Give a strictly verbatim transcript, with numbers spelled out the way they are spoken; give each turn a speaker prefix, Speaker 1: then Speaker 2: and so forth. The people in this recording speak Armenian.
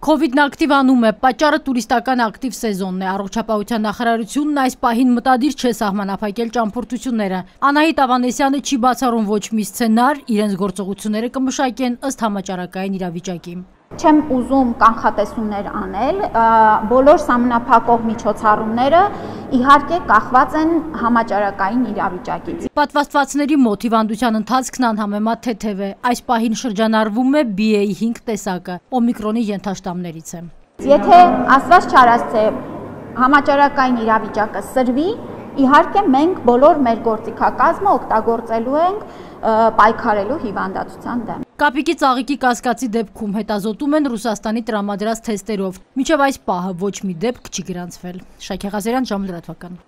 Speaker 1: Քովիդն ակտիվանում է, պատճառը տուրիստական ակտիվ սեզոնն է, առողջապահության նախարարությունն այս պահին մտադիր չէ սահմանափակել ճամփորդությունները։ Անահիտ Ավանեսյանը չի բացառում ոչ մի սցենար, իրենց գործողությունները կմշակեն ըստ համաճարակային իրավիճակի։
Speaker 2: Չեմ ուզում կանխատեսումներ անել, բոլոր սահմանափակող միջոցառումները իհարկե կախված են համաճարակային իրավիճակից։
Speaker 1: Պատվաստվածների մոտ հիվանդության ընթացքն անհամեմատ թեթև է, այս պահին շրջանառվում է B A five տեսակը, օմիկրոնի ենթաշտամներից է։
Speaker 2: Եթե ասված չարասցե համաճարակային իրավիճակը սրվի, իհարկե մենք բոլոր մեր գործիքակազմը օգտագործելու ենք պայքարելու հիվանդացության դեմ։
Speaker 1: Կապիկի ծաղիկի կասկածի դեպքում հետազոտում են Ռուսաստանի տրամադրած թեստերով։ Մինչև այս պահը ոչ մի դեպք չի գրանցվել։ Շաքե Ղազարյան, Ժամը լրատվական։